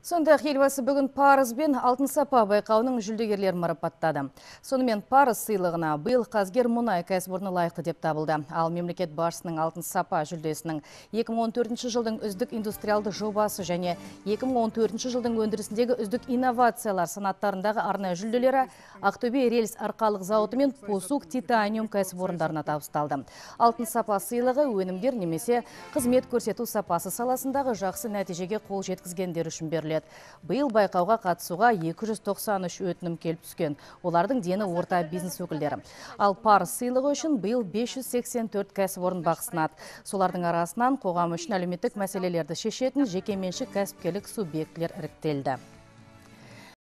Сондай-ақ елбасы бүгін Парыз бен Алтын сапа байқауының жүлдегерлерін марапаттады. Сонымен Парыз сыйлығына биыл Қазгер мұнай кәсіпорны лайықты деп табылды. Ал мемлекет басшысының Алтын сапа жүлдесінің 2014 жылдың үздік индустриалды жобасы және 2014 жылдың өндірісіндегі үздік инновациялар санаттарындағы арнайы жүлделері Ақтөбе рельс арқалық зауыты мен Посук титаниум кәсіпорындарына табысталды. Алтын сапа сыйлығы өнімдер немесе қызмет көрсету сапасы саласындағы жақсы нәтижеге қол жеткізгендер үшін беріледі. Биыл байқауға қатысуға 293 өтінім келіп түскен. Олардың дені орта бизнес өкілдері. Ал Парыз сыйлығы үшін биыл 584 кәсіпорын бақ сынады. Солардың арасынан қоғам үшін әлеуметтік мәселелерді шешетін жекеменшік кәсіпкерлік субъектілер іріктелді.